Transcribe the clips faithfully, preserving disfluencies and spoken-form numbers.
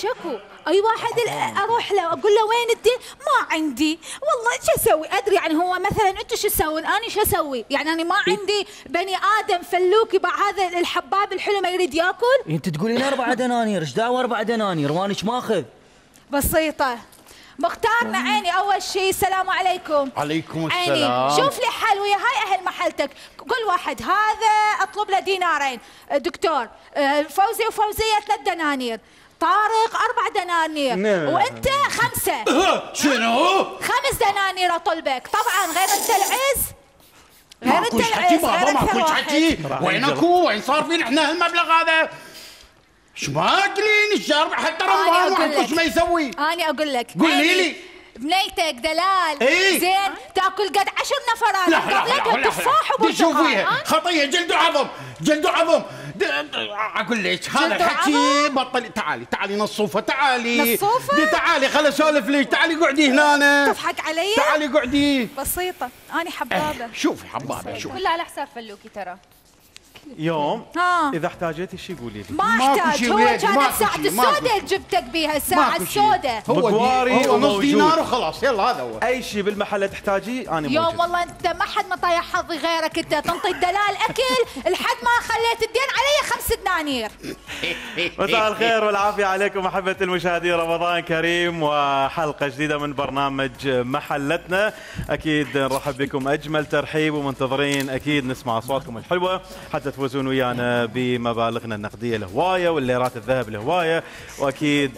شكو، اي واحد اروح له اقول له وين الدين؟ ما عندي، والله شو اسوي؟ ادري يعني هو مثلا انتم شو تسوون؟ انا شو اسوي؟ يعني انا ما عندي بني ادم فلوك يبع هذا الحباب الحلو ما يريد ياكل؟ انت تقولين اربع دنانير، ايش دعوه اربع دنانير وانك ماخذ؟ بسيطه. مختارنا عيني اول شيء السلام عليكم. عليكم السلام. عيني شوف لي حل ويا هاي اهل محلتك، كل واحد هذا اطلب له دينارين، دكتور فوزي وفوزيه ثلاث دنانير، طارق اربع دنانير، وانت خمسه. شنو؟ خمس دنانير اطلبك، طبعا غير انت العز غير انت العز بابا ماكوش حكي، وين اكو؟ وين صار فينا احنا هالمبلغ هذا؟ شو ماكلين الشارع حتى رمضان واحد ما يسوي؟ انا اقول لك قولي لي بنيتك دلال إيه؟ زين تاكل قد عشر نفرات قبلك وتفاح وبرتقال. شوفيها خطيه جلد وعظم جلد وعظم. اقول لك هذا الحكي بطل. تعالي تعالي نصوفه تعالي نصوفه تعالي خل اسولف لك. تعالي قعدي هنا. تضحك علي؟ تعالي قعدي. بسيطه انا حبابه. شوفي حبابه شوفي كلها على حساب فلوكي ترى. يوم ها. اذا احتاجتي شيء قولي لي. ما احتاج، هو كانت ساعة السوداء جبتك بيها الساعة السوداء. هو بقواري هو نص دينار وخلاص يلا هذا هو. اي شيء بالمحل تحتاجيه انا موجود. يوم والله انت ما حد ما طايح حظي غيرك، انت تنطي الدلال اكل لحد ما خليت الدين علي خمس دنانير. مساء الخير والعافية عليكم أحبة المشاهدين، رمضان كريم وحلقة جديدة من برنامج محلتنا. أكيد نرحب بكم أجمل ترحيب ومنتظرين أكيد نسمع أصواتكم الحلوة حتى تفوزون ويانا بمبالغنا النقدية الهواية والليرات الذهب الهواية. وأكيد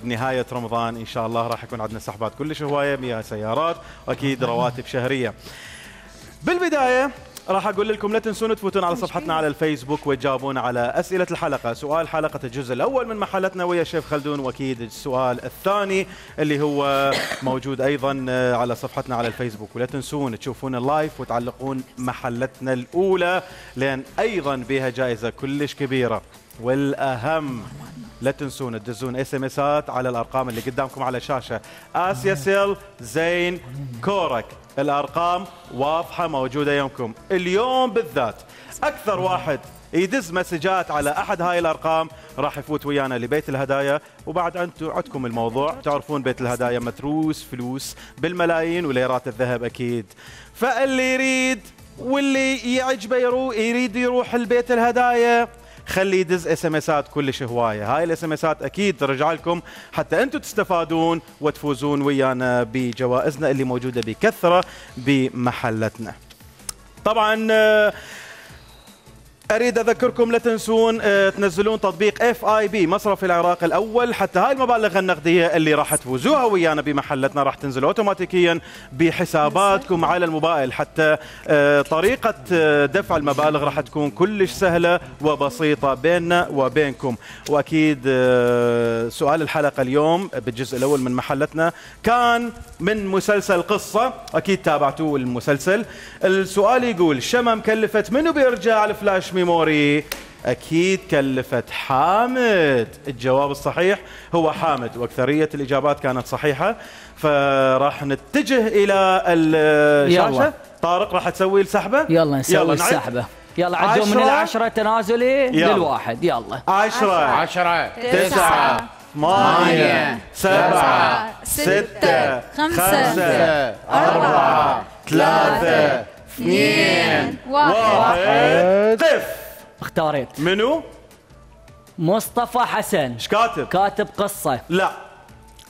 بنهاية رمضان إن شاء الله راح يكون عندنا سحبات كلش هواية، مياه سيارات وأكيد رواتب شهرية. بالبداية راح اقول لكم لا تنسون تفوتون على صفحتنا على الفيسبوك وتجاوبون على اسئله الحلقه. سؤال حلقه الجزء الاول من محلتنا ويا شيف خلدون، واكيد السؤال الثاني اللي هو موجود ايضا على صفحتنا على الفيسبوك. ولا تنسون تشوفون اللايف وتعلقون محلتنا الاولى لان ايضا بها جائزه كلش كبيره. والاهم لا تنسون تدزون اس ام اسات على الارقام اللي قدامكم على الشاشه. اسيا سيل زين كورك، الارقام واضحه موجوده يومكم. اليوم بالذات اكثر واحد يدز مسجات على احد هاي الارقام راح يفوت ويانا لبيت الهدايا. وبعد انتم عندكم الموضوع، تعرفون بيت الهدايا متروس فلوس بالملايين وليرات الذهب اكيد. فاللي يريد واللي يعجبه يروح يريد يروح لبيت الهدايا خلي يدز اس ام اسات كلش هوايه. هاي الاس ام اسات اكيد ترجع لكم حتى انتم تستفادون وتفوزون ويانا بجوائزنا اللي موجوده بكثره بمحلتنا. طبعا اريد اذكركم لا تنسون تنزلون تطبيق اف اي بي مصرف العراق الاول حتى هاي المبالغ النقديه اللي راح تفوزوها ويانا بمحلتنا راح تنزل اوتوماتيكيا بحساباتكم على الموبايل. حتى طريقه دفع المبالغ راح تكون كلش سهله وبسيطه بيننا وبينكم. واكيد سؤال الحلقه اليوم بالجزء الاول من محلتنا كان من مسلسل قصه، اكيد تابعتوه المسلسل. السؤال يقول شمم كلفت منو بيرجع الفلاش ميموري؟ أكيد كلفت حامد. الجواب الصحيح هو حامد واكثريه الاجابات كانت صحيحه. فراح نتجه الى الشاشه. يلا. طارق راح تسوي السحبه. يلا نسوي يلا السحبه. يلا عدوا من العشره تنازلي يلا. للواحد. يلا عشرة عشرة تسعة ثمانية سبعة ستة خمسة أربعة ثلاثة اثنين واحد. قف. اختاريت. منو؟ مصطفى حسن. ايش كاتب؟ كاتب قصة. لا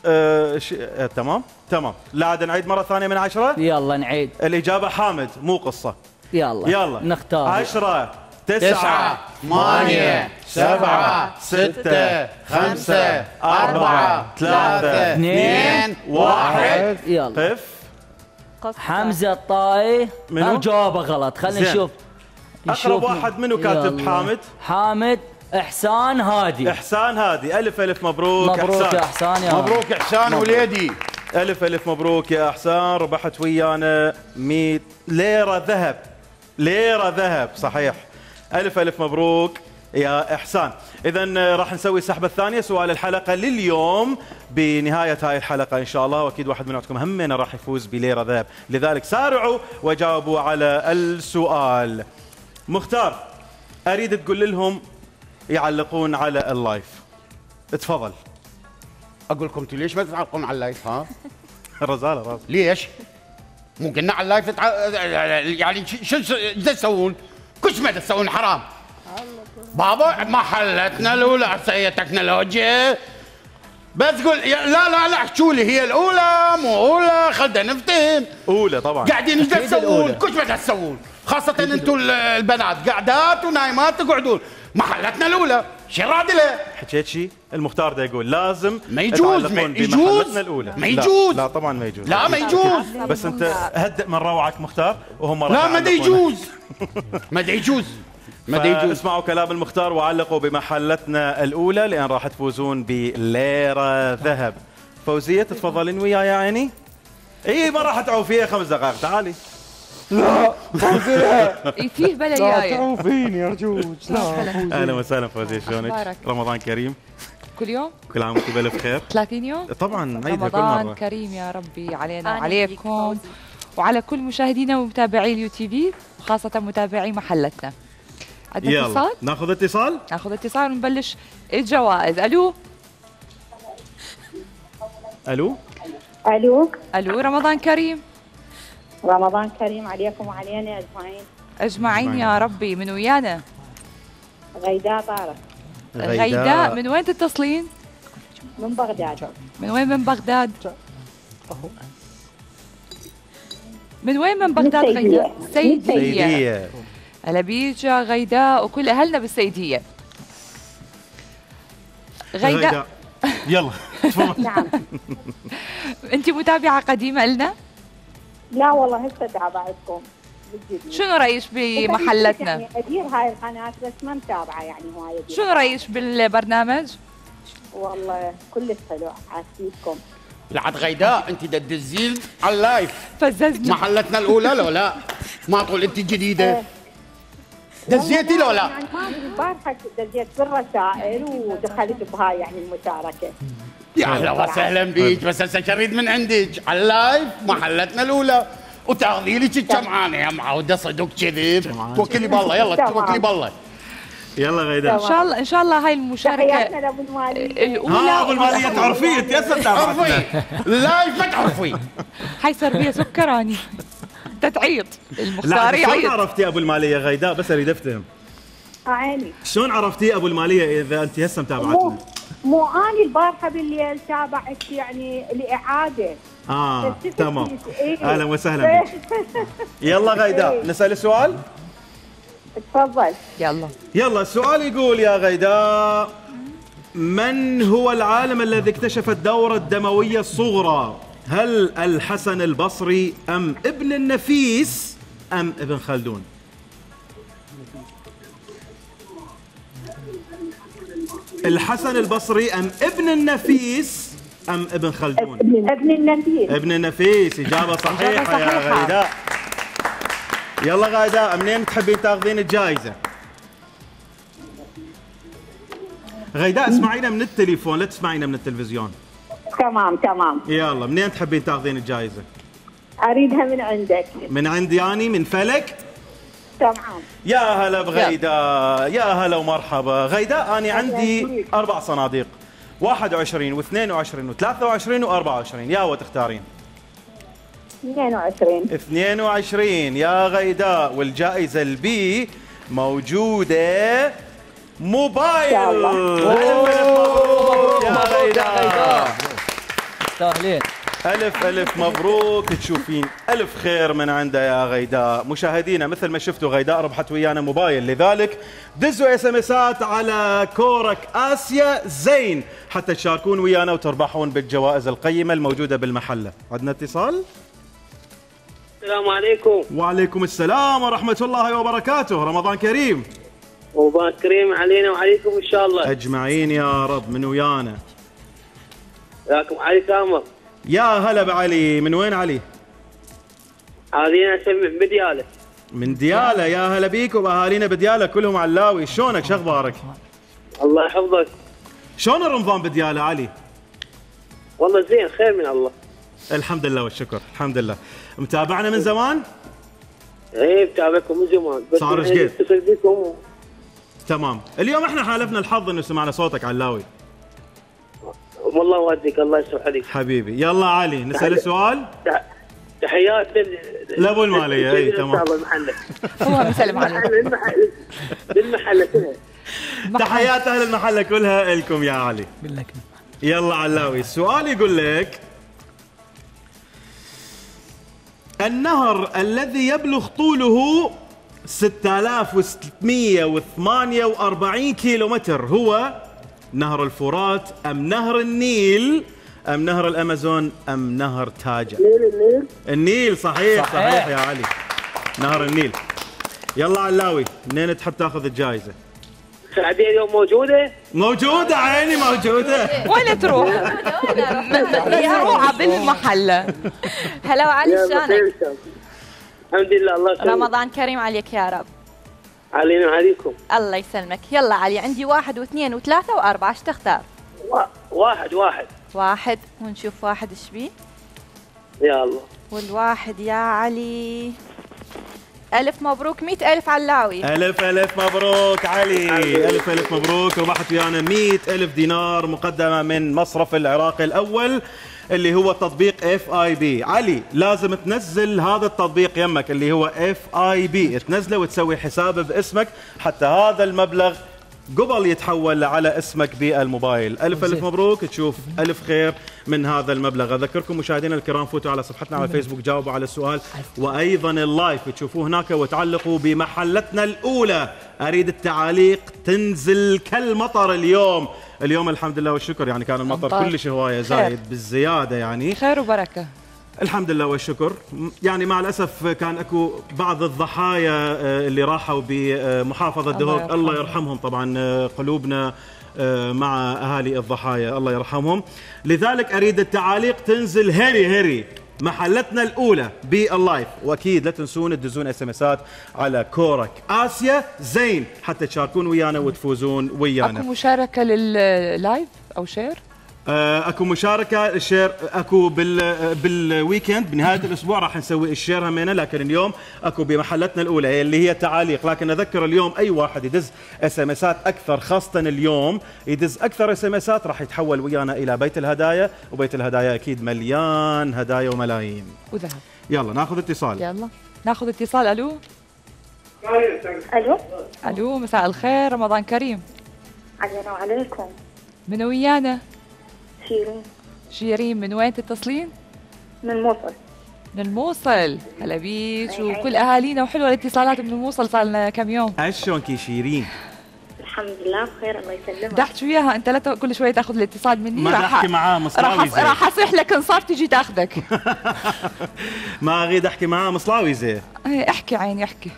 أه ش... أه تمام تمام. لا عاد نعيد مرة ثانية من عشرة. يلا نعيد. الإجابة حامد مو قصة. يلا يلا نختار. عشرة تسعة ثمانية سبعة ستة خمسة أربعة ثلاثة اثنين واحد. يلا. قف. حمزة الطاي. منو؟ جوابه غلط. خلينا نشوف. أقرب واحد منو كاتب؟ حامد. حامد إحسان هادي. إحسان هادي. ألف ألف مبروك. مبروك إحسان. يا إحسان. يا مبروك إحسان وليدي. ألف ألف مبروك يا إحسان. ربحت ويانا مئة ليرة ذهب. ليرة ذهب صحيح. ألف ألف مبروك يا إحسان. إذا راح نسوي السحبة الثانية سؤال الحلقة لليوم بنهاية هاي الحلقة إن شاء الله. وأكيد واحد منكم همنا راح يفوز بليرة ذهب، لذلك سارعوا وجاوبوا على السؤال. مختار أريد تقول لهم يعلقون على اللايف. تفضل. اقول لكم انتوا ليش ما تتعلقون على اللايف ها؟ الرزاله راس ليش؟ مو قلنا على اللايف تتع... يعني شو شو تسوون؟ كش ما تسوون حرام. بابا محلتنا الاولى هي تكنولوجيا. بس تقول لا لا لا احكوا لي هي الاولى مو اولى خلينا نفتهم. اولى طبعا. قاعدين ايش تسوون؟ كش ما تسوون؟ خاصة انتم البنات قاعدات ونايمات تقعدون. محلتنا الاولى شو رادله؟ حكيت شيء المختار ده يقول لازم ما يجوز ما يجوز الاولى. ما يجوز لا, لا طبعا ما يجوز. لا ما يجوز. بس انت هدئ من روعك مختار وهم لا ما يجوز ما يجوز ما يجوز. اسمعوا كلام المختار وعلقوا بمحلتنا الاولى لان راح تفوزون بليره ذهب. فوزيه تتفضلين وياي يا عيني. اي ما راح تعوفيها خمس دقائق تعالي. لا فوزيه فيه بلا جايه. لا تعوفيني ارجوك. لا اهلا وسهلا فوزيه شلونك؟ رمضان كريم. كل يوم؟ كل عام وانتم بألف خير. ثلاثين يوم؟ طبعا عيدها كل رمضان مرة. كريم يا ربي علينا وعليكم وعلى كل مشاهدينا ومتابعي اليو تي في وخاصة متابعي محلتنا. عندنا اتصال؟ ناخذ اتصال؟ ناخذ اتصال ونبلش الجوائز. الو الو الو الو رمضان كريم. رمضان كريم عليكم وعلينا اجمعين. اجمعين يا ربي. من ويانا؟ غيداء طارق. غيداء من وين تتصلين؟ من بغداد. من وين من بغداد؟ من وين من بغداد غيداء؟ سيدية. هلا بيك يا غيداء وكل اهلنا بالسيدية. غيداء يلا تفضل. نعم. انت متابعة قديمة لنا؟ لا والله هسه تابعتكم بالجديد. شنو رايك بمحلتنا؟ يعني ادير هاي القناة بس ما متابعة يعني هواية. شنو رايك بالبرنامج؟ والله كلش حلو عاسيبكم. لعد غيداء انت تدزين على اللايف. فززنا. محلتنا الاولى لو لا؟ ما تقول انت جديدة. دزيتي لو لا؟ يعني ما ادري البارحة دزيت بالرسائل ودخلت بهاي يعني المشاركة. يا اهلا وسهلا بيك بس هسه شريد من عندك على اللايف محلتنا الاولى وتاخذي لك الجمعانه يا معوده صدق كذب. توكلي بالله يلا توكلي بالله. يلا غيداء ان شاء الله ان شاء الله هاي المشاركه تحياتنا لابو الماليه الاولى. ها ابو الماليه تعرفيه انت هسه تعرفي اللايف ما تعرفي. هاي سربيه سكراني تتعيط المختار لا شلون يعيط. عرفتي ابو الماليه غيداء بس اريد افتهم. عيني شلون عرفتي ابو الماليه اذا انت هسه متابعتنا؟ مو اني البارحه بالليل تابعت يعني الاعاده. اه تمام. إيه؟ اهلا وسهلا بك. يلا غيداء إيه؟ نسال السؤال؟ تفضل. يلا يلا السؤال يقول يا غيداء من هو العالم الذي اكتشف الدورة الدموية الصغرى؟ هل الحسن البصري أم ابن النفيس أم ابن خلدون؟ الحسن البصري أم ابن النفيس أم ابن خلدون؟ ابن النفيس. ابن النفيس. إجابة صحيحة يا غيداء. يلا غيداء منين تحبين تاخذين الجائزة؟ غيداء اسمعينا من التليفون لا تسمعينا من التلفزيون. تمام تمام. يلا منين تحبين تاخذين الجائزة؟ اريدها من عندك. من عندي أني من فلك؟ تمام. يا هلا بغيداء يا هلا ومرحبا. غيداء أنا عندي أربع صناديق واحد وعشرين واثنين وعشرين وثلاثة وعشرين وأربعة وعشرين. يا هو تختارين؟ اثنين وعشرين. اثنين وعشرين يا غيداء والجائزة البي موجودة موبايل. يا غيداء تستاهلين. ألف ألف مبروك تشوفين ألف خير من عنده يا غيداء. مشاهدينا مثل ما شفتوا غيداء ربحت ويانا موبايل لذلك دزوا اس ام اسات على كورك آسيا زين حتى تشاركون ويانا وتربحون بالجوائز القيمة الموجودة بالمحلة. عندنا اتصال. السلام عليكم. وعليكم السلام ورحمة الله وبركاته. رمضان كريم. رمضان كريم علينا وعليكم إن شاء الله. أجمعين يا رب. من ويانا؟ وياكم علي سامر. يا هلا بعلي. من وين علي؟ أهالينا نسمع بديالة. من ديالة. يا هلا بيك وبأهالينا بديالة كلهم علاوي. شلونك شو أخبارك؟ الله يحفظك. شلون رمضان بديالة علي؟ والله زين خير من الله. الحمد لله والشكر. الحمد لله. متابعنا من زمان؟ ايه متابعكم من زمان بس صار ايش قد؟ اتصل بكم. تمام. اليوم احنا حالفنا الحظ انه سمعنا صوتك علاوي. والله وديك الله يسمح عليك حبيبي. يلا علي نسال سؤال. تحيات لابو الماليه. اي تمام. هو مسلم عليك. بالمحله كلها. تحيات اهل المحله كلها لكم يا علي. يلا علاوي السؤال يقول لك النهر الذي يبلغ طوله ستة آلاف وستمئة وثمانية وأربعين كيلومتر هو نهر الفرات ام نهر النيل ام نهر الامازون ام نهر تاجا؟ النيل. النيل النيل صحيح صحيح, صحيح يا علي. نهر النيل. يلا علاوي منين تحب تاخذ الجائزه؟ السعوديه اليوم موجوده؟ موجوده عيني موجوده. وين تروح؟ روعه بالمحله. هلا وعلي شلونك؟ الحمد لله الله يسلمك. رمضان كريم عليك يا رب. علينا وعليكم. الله يسلمك. يلا علي عندي واحد واثنين وثلاثة وأربعة، ايش تختار؟ واحد واحد واحد ونشوف واحد ايش بيه؟ يا الله. والواحد يا علي ألف مبروك. مئة ألف علاوي. ألف ألف مبروك علي. ألف ألف مبروك. ربحت ويانا مئة ألف دينار مقدمة من مصرف العراق الأول اللي هو تطبيق اف اي بي. علي لازم تنزل هذا التطبيق يمك اللي هو اف اي بي، تنزله وتسوي حساب باسمك حتى هذا المبلغ قبل يتحول على اسمك بالموبايل. ألف ألف مبروك. تشوف ألف خير من هذا المبلغ. أذكركم مشاهدينا الكرام فوتوا على صفحتنا على فيسبوك جاوبوا على السؤال، وأيضا اللايف تشوفوه هناك وتعلقوا بمحلتنا الأولى. أريد التعاليق تنزل كالمطر اليوم. اليوم الحمد لله والشكر يعني كان المطر كلش هواية زايد بالزيادة يعني خير وبركة الحمد لله والشكر. يعني مع الأسف كان أكو بعض الضحايا اللي راحوا بمحافظة دهوك الله يرحمهم. طبعا قلوبنا مع أهالي الضحايا الله يرحمهم. لذلك أريد التعاليق تنزل هري هري محلتنا الأولى باللايف، وأكيد لا تنسون تدزون اس ام اسات على كورك آسيا زين حتى تشاركون ويانا وتفوزون ويانا. أكو مشاركة لللايف أو شير؟ اكو مشاركه الشير اكو بال بالويكند بنهايه الاسبوع راح نسوي الشير همينه، لكن اليوم اكو بمحلتنا الاولى اللي هي تعاليق. لكن اذكر اليوم اي واحد يدز اس ام اسات اكثر، خاصه اليوم يدز اكثر اس ام اسات راح يتحول ويانا الى بيت الهدايا، وبيت الهدايا اكيد مليان هدايا وملايين وذهب. يلا ناخذ اتصال. يلا ناخذ اتصال. الو الو الو مساء الخير، رمضان كريم. علينا وعليكم. من ويانا؟ شيرين. شيرين من وين تتصلين؟ من الموصل. من الموصل. هلا بيك وكل اهالينا، وحلوه الاتصالات من الموصل، صار لنا كم يوم. عشونك يا شيرين؟ الحمد لله بخير الله يسلمك. دحت وياها انت لا كل شوي تاخذ الاتصال مني. ما راح احكي معاه مصلاوي زين. راح اصيح لك انصار تجي تاخذك. ما اريد احكي معاه مصلاوي زين. احكي عيني احكي.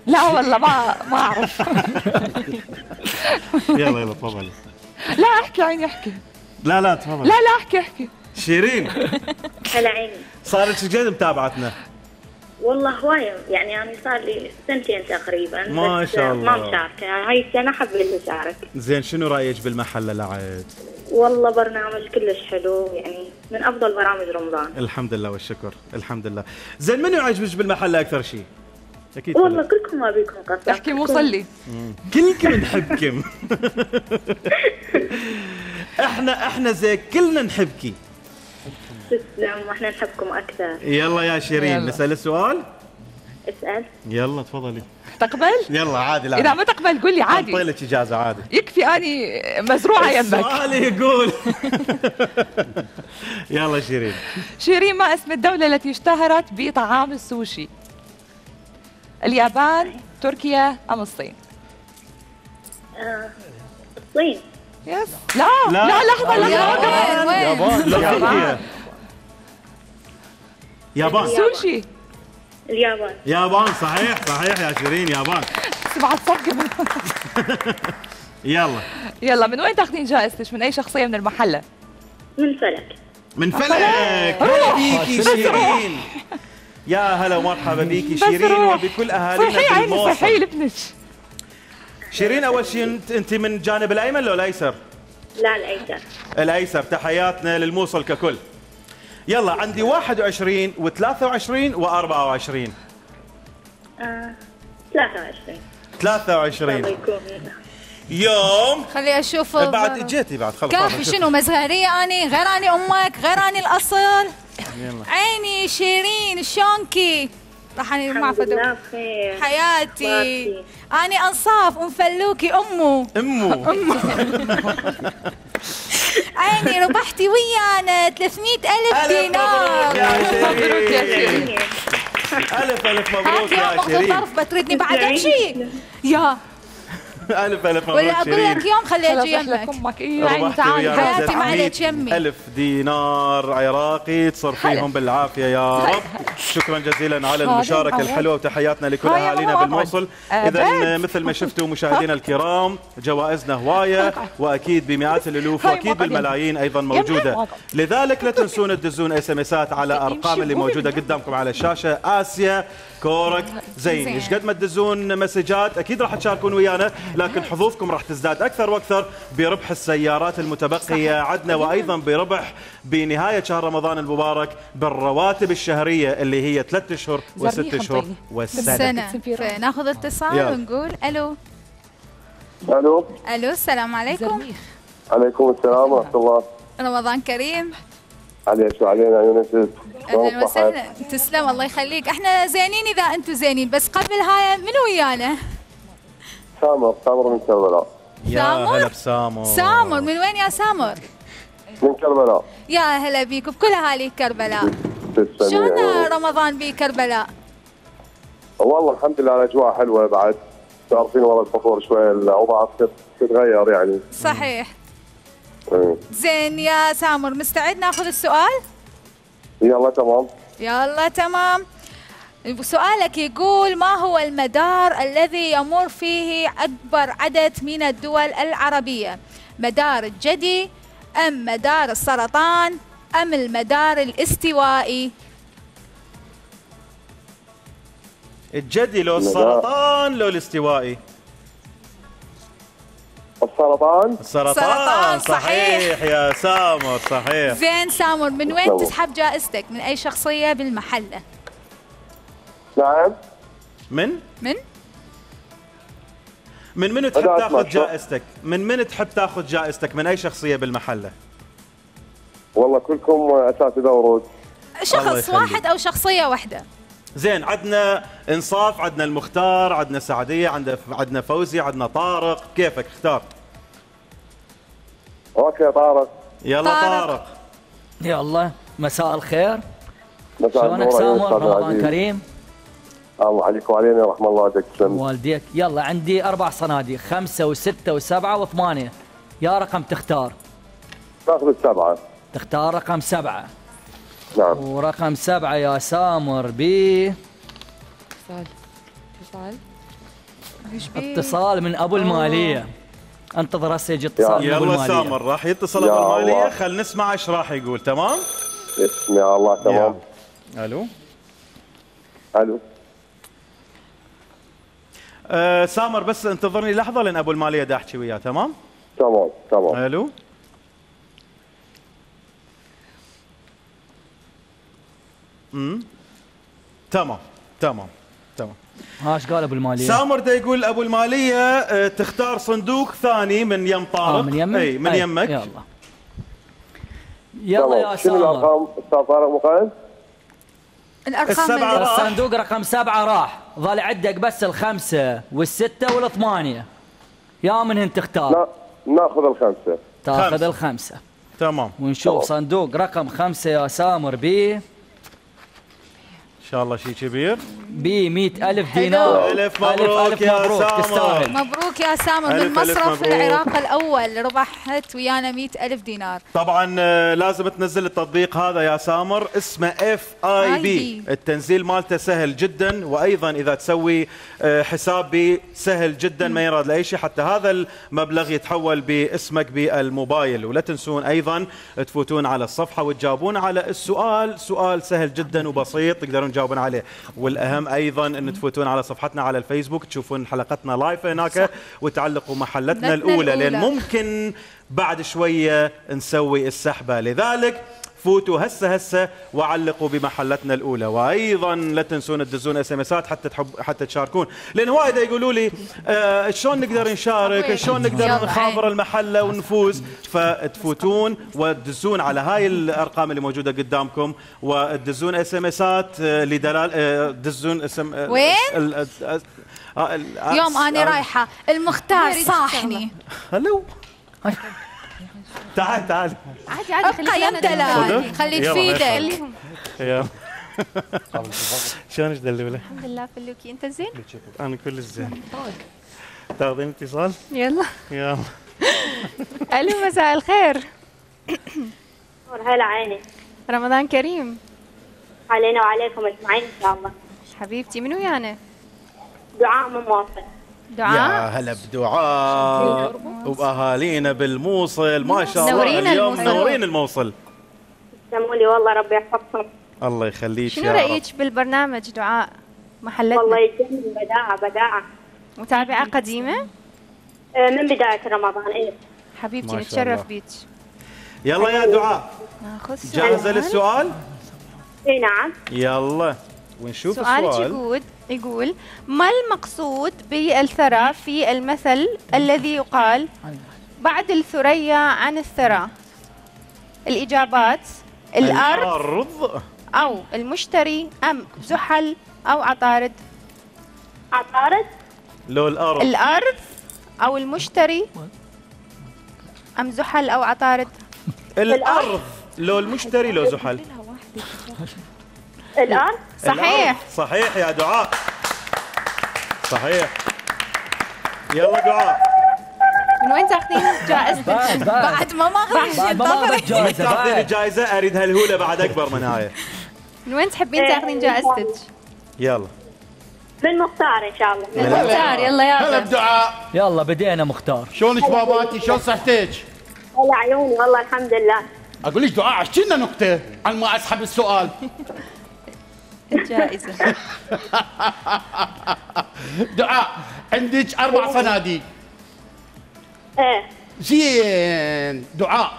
لا والله ما ما اعرف. يلا يلا تفضلي. لا احكي عيني احكي. لا لا تفضل. لا لا احكي احكي. شيرين هلا عيني. صار لك قد متابعتنا؟ والله هواية يعني انا صار لي سنتين تقريبا. ما شاء الله. ما مشاركة هاي السنة حبيت اشارك. زين شنو رايك بالمحلة لعد؟ والله برنامج كلش حلو يعني من افضل برامج رمضان. الحمد لله والشكر الحمد لله. زين منو يعجبك بالمحلة اكثر شيء؟ اكيد والله فلت. كلكم ما بيكم قصة. احكي مو صلي. كلكم نحبكم. احنا احنا زي كلنا نحبكي. تسلم واحنا نحبكم اكثر. يلا يا شيرين يلا. نسال السؤال. اسال. يلا تفضلي. تقبل؟ يلا عادي. لا اذا ما تقبل قول لي عادي. اعطي لك اجازه عادي. يكفي اني مزروعه يمك. السؤال يقول. يلا شيرين. شيرين ما اسم الدوله التي اشتهرت بطعام السوشي؟ اليابان، تركيا ام الصين؟ آه، الصين. يس. لا لا, لا لحظه لحظه. يابان. يابان. يابان. سوشي. اليابان. يابان صحيح صحيح يا شيرين يابان. سمعت صفقة. يلا يلا من وين تاخذين جائزتك؟ من اي شخصية من المحلة؟ من فلك. من فلك. هلا بيكي شيرين. يا هلا ومرحبا بيكي شيرين وبكل اهالينا في الموصل. صحيح لابنك. شيرين اول شيء انت من الجانب الايمن ولا الايسر؟ لا الايسر. الايسر. تحياتنا للموصل ككل. يلا عندي واحد وعشرين وثلاثة وعشرين وأربعة وعشرين. آه، ثلاثة وعشرين. ثلاثة وعشرين. يوم خلي اشوف بعد اجيتي بعد خلص كافي. شنو مزهريه اني غير اني امك غير اني الاصل. يلا. عيني شيرين شونكي راح اني ما فدو حياتي. اني انصاف ام فلوكي امه امه امه عيني ربحتي ويانا ثلاثمية ألف دينار. مبروك يا شيرين. ألف ألف مبروك يا شيرين. طرف بتريدني بعد امشي يا ألف ألف مبروك ولا أقول لك يوم خلي أجي يمك. أمك إيه تعالي حياتي ما عليك يمي. ألف دينار عراقي تصر فيهم بالعافية يا رب. شكرا جزيلا على المشاركة الحلوة وتحياتنا لكل أهالينا بالموصل. إذا مثل ما شفتوا مشاهدينا الكرام جوائزنا هواية وأكيد بمئات الألوف وأكيد بالملايين أيضا موجودة. لذلك لا تنسون تدزون اس ام اسات على أرقام اللي موجودة قدامكم على الشاشة. آسيا كورك زين. ايش قد ما تدزون مسجات اكيد راح تشاركون ويانا، لكن حظوظكم راح تزداد اكثر واكثر بربح السيارات المتبقيه عندنا، وايضا بربح بنهايه شهر رمضان المبارك بالرواتب الشهريه اللي هي ثلاث اشهر وست اشهر والسنه. ناخذ اتصال ونقول الو. الو الو السلام عليكم. عليكم السلام ورحمه الله. رمضان كريم. عليك وعلينا يونس. اهلا وسهلا. تسلم الله يخليك. احنا زينين اذا انتم زينين، بس قبل هاي منو ويانا؟ سامر. سامر من كربلاء. يا هلا بسامر. سامر من وين يا سامر؟ من كربلاء. يا هلا بيك وبكل اهالي كربلاء. شلون رمضان بكربلاء؟ والله الحمد لله الاجواء حلوه بعد. تعرفين والله الفطور شوي الاوضاع تتغير يعني. صحيح. زين يا سامر مستعد ناخذ السؤال؟ يلا تمام. يلا تمام. سؤالك يقول ما هو المدار الذي يمر فيه أكبر عدد من الدول العربية؟ مدار الجدي أم مدار السرطان أم المدار الاستوائي؟ الجدي لو السرطان لو الاستوائي؟ السرطان. السرطان صحيح يا سامر صحيح. زين سامر من وين تسحب جائزتك؟ من أي شخصية بالمحلة؟ نعم. من؟ من؟ من من تحب تاخذ جائزتك؟ من من تحب تاخذ جائزتك؟ من أي شخصية بالمحلة؟ والله كلكم أساتذة ورود. شخص واحد أو شخصية واحدة؟ زين عندنا انصاف، عندنا المختار، عندنا سعديه، عندنا عندنا فوزي، عندنا طارق، كيفك اختار؟ اوكي طارق. يلا طارق, طارق. يلا مساء الخير. مساء شلونك سامر؟ رمضان كريم. الله عليك وعلينا ورحمه الله تسلم. والديك. يلا عندي اربع صناديق، خمسه وسته وسبعه وثمانيه. يا رقم تختار؟ ناخذ السبعه. تختار رقم سبعه. نعم. ورقم سبعة يا سامر بي اتصال اتصال اتصال من ابو المالية. انتظر هسه يجي اتصال من ابو المالية. يلا سامر راح يتصل ابو المالية، خل نسمع ايش راح يقول. تمام؟ يا الله تمام. الو الو أه سامر بس انتظرني لحظة لان ابو المالية دا احكي وياه. تمام؟ تمام تمام. الو امم تمام تمام تمام. هاش قال ابو الماليه؟ سامر دا يقول ابو الماليه اه تختار صندوق ثاني من يم طارق. آه من يمك؟ اي من أي. يمك. يلا يلا يا سامر. شنو الارقام استاذ طارق مقيم؟ الارقام الصندوق رقم سبعه راح، ظل عندك بس الخمسه والسته والثمانيه. يا منهن تختار؟ لا ناخذ الخمسه. تاخذ خمسة. الخمسه. تمام. ونشوف طبعا. صندوق رقم خمسه يا سامر بي ان شاء الله شيء كبير ب مئة ألف دينار. ألف مبروك ألف يا مبروك سامر. تستاهل. مبروك يا سامر من مصرف العراق الأول ربحت ويانا مئة ألف دينار. طبعا لازم تنزل التطبيق هذا يا سامر اسمه اف اي بي. التنزيل مالته سهل جدا، وايضا اذا تسوي حساب بي سهل جدا ما يراد لاي شيء، حتى هذا المبلغ يتحول باسمك بالموبايل. ولا تنسون ايضا تفوتون على الصفحه وتجاوبون على السؤال، سؤال سهل جدا وبسيط تقدرون تجاوبون عليه. والاهم ايضا ان تفوتون على صفحتنا على الفيسبوك تشوفون حلقتنا لايف هناك وتعلقوا محلتنا الاولى، لان ممكن بعد شويه نسوي السحبه. لذلك فوتوا هسه هسه وعلقوا بمحلتنا الاولى. وايضا لا تنسون تدزون اس ام اسات حتى تحب حتى تشاركون، لان وايد يقولوا لي آه شلون نقدر نشارك، شلون نقدر نخابر المحله ونفوز. فتفوتون وتدزون على هاي الارقام اللي موجوده قدامكم وتدزون اس ام اسات لدلال آه تدزون اسم آه وين؟ يوم انا رايحه المختار صاحني. هلو تعال تعال عادي عادي ابقى يم دلال خلي تفيدك. يلا شلونك دلوله؟ الحمد لله فلوكي، انت زين؟ انا كل زين. تاخذين اتصال؟ يلا يلا. الو مساء الخير. هلا عيني. رمضان كريم علينا وعليكم اجمعين ان شاء الله. حبيبتي من ويانا؟ دعاء من موصل. دعاء يا هلا بدعاء وباهالينا بالموصل، ما شاء الله منورين اليوم الموصل. منورين الموصل. تسلموا لي والله ربي يحفظكم. الله يخليك. شنو يا رايك بالبرنامج دعاء محلتنا؟ والله يجنن، بداعة بداعة. متابعة قديمة؟ آه، من بداية رمضان. ايه حبيبتي ما شاء نتشرف الله. بيك. يلا يا دعاء ناخذ سؤال. جاهزة للسؤال؟ اي نعم. يلا ونشوف سؤالك السؤال. يقول يقول ما المقصود بالثرى في المثل الذي يقال بعد الثريا عن الثرى؟ الإجابات: الأرض الأرض أو المشتري أم زحل أو عطارد. عطارد. لو الأرض الأرض أو المشتري أم زحل أو عطارد. الأرض لو المشتري لو زحل. الأرض. صحيح. الأرض. صحيح يا دعاء، صحيح. يلا دعاء من وين تاخذين جائزتك؟ بعد ما ماخذ شيء بعد ما ماخذ جائزة تاخذين بعد. الجائزة، أريد هالهولة بعد أكبر من هاي. من وين تحبين تاخذين جائزتك؟ يلا من مختار ان شاء الله. المختار. يلا هلا يلا بدعاء. يلا بدينا مختار. شلونك باباتي؟ شلون صحتك؟ هلا عيوني والله الحمد لله. اقول لك دعاء احكي لنا نكته عن ما اسحب السؤال. الجائزة. دعاء عندك اربع صناديق. ايه زين دعاء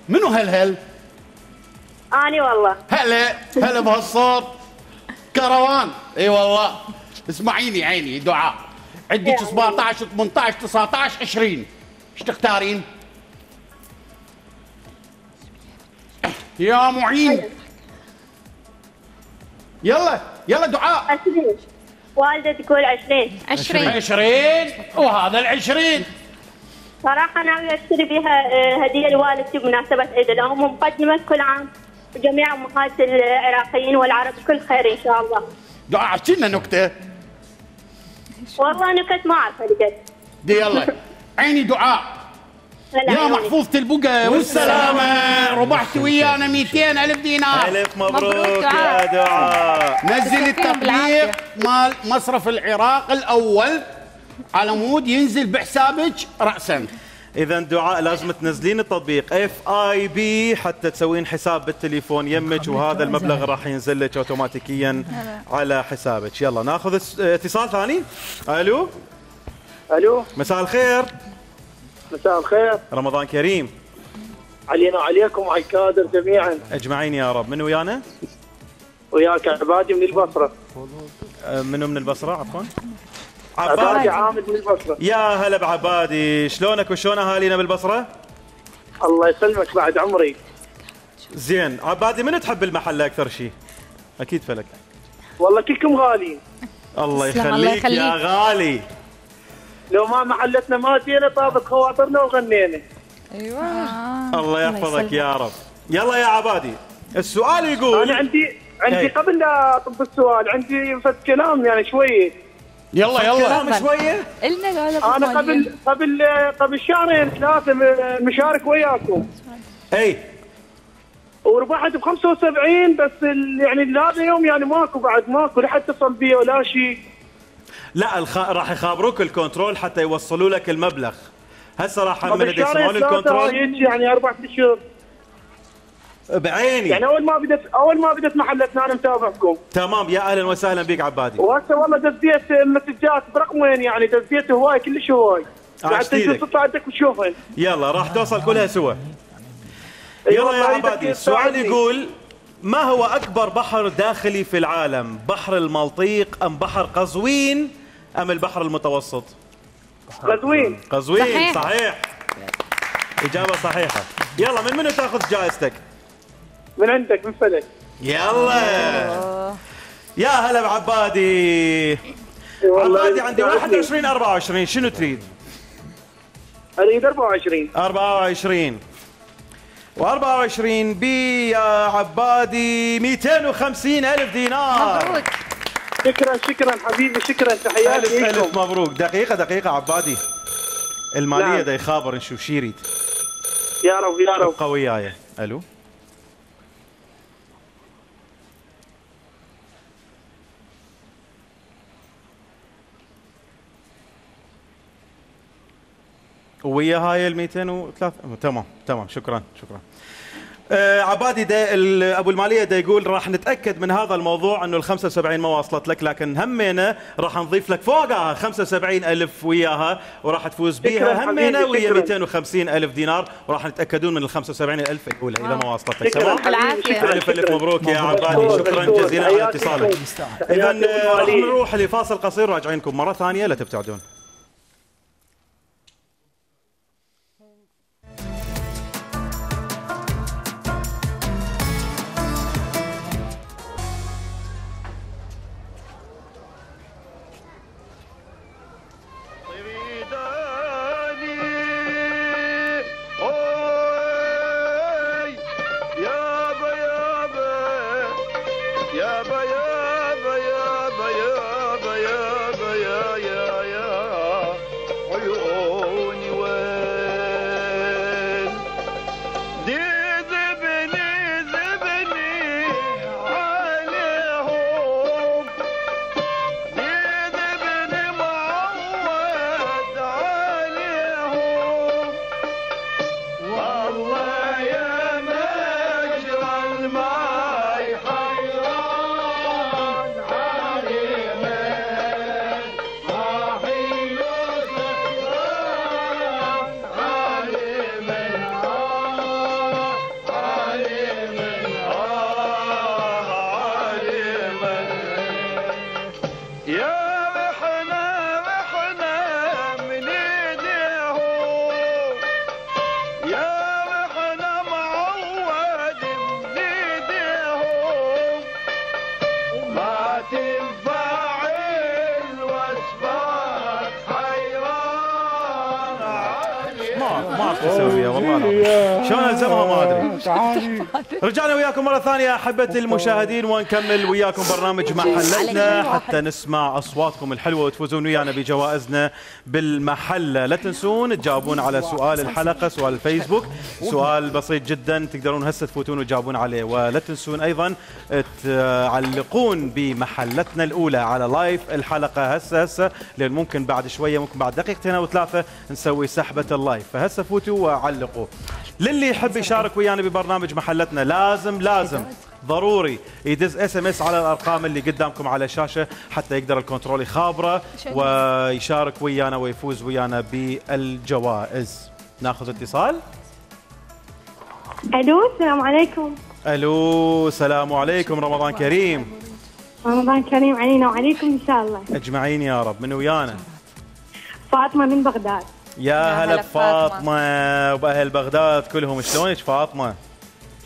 منو هالهل؟ اني والله. هلا هلا بهالصوت. كروان. اي والله. اسمعيني عيني دعاء، عندك سبعطعش ثمنطعش تسعطعش عشرين، ايش تختارين؟ يا معين. يلا يلا دعاء. عشرين. والدة تقول عشرين. عشرين. عشرين وهذا العشرين. صراحة ناوية اشتري بها آه، هدية لوالدتي بمناسبة عيد الأم، ومقدمة كل عام وجميع أمهات العراقيين والعرب كل خير إن شاء الله. دعاء احكي لنا نكته. والله نكت ما أعرفها لقد. دي يلا عيني دعاء. هلا يا عيوني. محفوظة البقى والسلامة، ربحت ويانا مئتين ألف دينار. ألف مبروك, مبروك يا دعاء. نزل يعطيكم بالعافية. التطبيق مال مصرف العراق الأول على مود ينزل بحسابك رأسا. إذا دعاء لازم تنزلين التطبيق اف اي بي حتى تسوين حساب بالتليفون يمك، وهذا المبلغ راح ينزل لك اوتوماتيكيا على حسابك. يلا ناخذ اس- اتصال ثاني. الو الو مساء الخير، مساء الخير، رمضان كريم علينا وعليكم وعلى الكادر جميعا. اجمعين يا رب. من ويانا؟ وياك عبادي من البصره. أه، منو من البصره عفوا؟ عبادي عبادي. عامد من البصره. يا هلا بعبادي، شلونك وشلون اهالينا بالبصره؟ الله يسلمك بعد عمري. زين عبادي، منو تحب المحل اكثر شيء؟ اكيد فلك. والله كلكم غاليين. الله تسلم، الله يخليك يا يخليك. غالي. لو ما محلتنا ما جينا طابت خواطرنا وغنينا. ايوه. الله يحفظك يا رب. يلا يا عبادي، السؤال يقول انا عندي عندي هي. قبل لا اطب السؤال عندي فد كلام يعني شويه. يلا يلا. كلام شويه. إلنا هذا انا قبل قبل قبل شهرين ثلاثه م- مشارك وياكم اي وربحت ب خمسة وسبعين، بس ال- يعني هذا يوم يعني ماكو بعد ماكو لا حد اتصل بي ولا شيء. لا الخ... راح يخابروك الكنترول حتى يوصلوا لك المبلغ. هسه راح من قبل اللي يسمعون شهرين ثلاثه الكنترول هيك يعني اربع اشهر. بعيني. يعني اول ما بدت اول ما بدت محلتنا انا متابعكم. تمام، يا اهلا وسهلا بك عبادي. وهسه والله دزيت مسجات برقمين، يعني دزيت هواي كلش هواي. عاشت قاعد إيدك. تطلع عندك وتشوفهن. يلا راح توصل كلها سوا. يلا يا عبادي، السؤال يقول ما هو أكبر بحر داخلي في العالم؟ بحر المالطيق أم بحر قزوين أم البحر المتوسط؟ قزوين. قزوين صحيح. صحيح. إجابة صحيحة. يلا من منو تاخذ جائزتك؟ من عندك من فلك. يلا يا هلا بعبادي. عبادي عندي واحد وعشرين أربعة وعشرين، شنو تريد؟ اريد أربعة وعشرين. أربعة وعشرين وأربعة وعشرين بي يا عبادي مئتين وخمسين ألف دينار. مبروك. شكرا شكرا حبيبي، شكرا، تحياتي ألف ألف لكم. مبروك. دقيقة دقيقة عبادي، المالية نعم. دا يخابر نشوف شي يريد. يا رب يا رب. ابقى وياي. الو ويا هاي ال مئتين وثلاثة. تمام تمام شكرا شكرا. آه عبادي دا ابو الماليه دا يقول راح نتاكد من هذا الموضوع انه ال خمسة وسبعين ما وصلت لك، لكن همينه راح نضيف لك فوقها خمسة وسبعين ألف وياها وراح تفوز بيها همينه ويا مئتين وخمسين ألف دينار، وراح نتاكدون من ال خمسة وسبعين ألف الاولى اذا ما وصلت لك. تمام الف الف مبروك يا عبادي، شكرا جزيلا على اتصالك. اذا راح نروح لفاصل قصير راجعينكم مره ثانيه، لا تبتعدون. تسويها والله العظيم شلون الزمها ما ادري. رجعنا وياكم مره ثانيه احبتي المشاهدين ونكمل وياكم برنامج محلتنا حتى نسمع اصواتكم الحلوه وتفوزون ويانا بجوائزنا بالمحله. لا تنسون تجاوبون على سؤال الحلقه، سؤال الفيسبوك، سؤال بسيط جدا تقدرون هسه تفوتون وتجاوبون عليه. ولا تنسون ايضا تعلقون بمحلتنا الاولى على لايف الحلقه هسه هسه، لان ممكن بعد شويه ممكن بعد دقيقتين او ثلاثه نسوي سحبه اللايف، فهسه فوتوا وعلقوا. للي يحب يشارك ويانا ببرنامج محلتنا لازم لازم ضروري يدز اس ام اس على الارقام اللي قدامكم على الشاشه حتى يقدر الكنترول يخابره ويشارك ويانا ويفوز ويانا بالجوائز. ناخذ اتصال. الو السلام عليكم. الو السلام عليكم، رمضان كريم. رمضان كريم علينا وعليكم ان شاء الله. اجمعين يا رب. من ويانا؟ فاطمه من بغداد. يا هلا بفاطمه وباهل بغداد كلهم، شلونك فاطمه؟